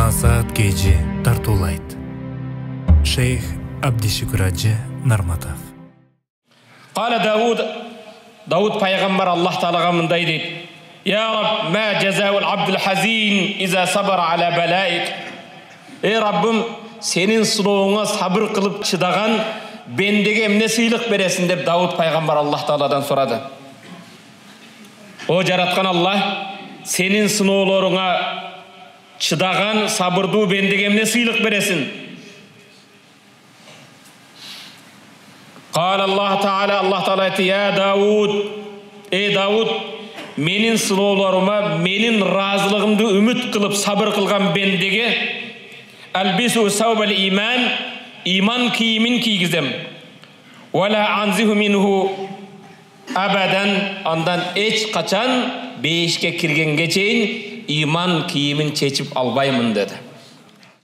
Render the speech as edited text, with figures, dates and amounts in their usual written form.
Насаат кежи тартуулайт. Шейх Абдишүкүр Ажы Нарматов. Кала Дауд пайгамбар Аллах Таалага мындай дейт: Я Рабб, ма жазаул абдул хазин иза сабара аля балаик. Эй Раббым, сенин сынооңа сабыр кылып чыдаган бендеге эмне сыйлык бересиң деп Дауд пайгамбар Аллах Тааладан сурады. О жараткан Аллах, сенин сыноолоруңа чыдаган сабырдуу бендеге эмне сыйлык бересиң? Кала Аллах Таала айты: Я Дауд, эй Дауд, менин сыноолорума менин разылыгымды үмүт кылып сабыр кылган бендеге албису саубал иман кийимин кийгизем. Вала анзиху минху абадан, андан эч качан бейишке киргенге чейин иман кийимин чечип албаймын dedi.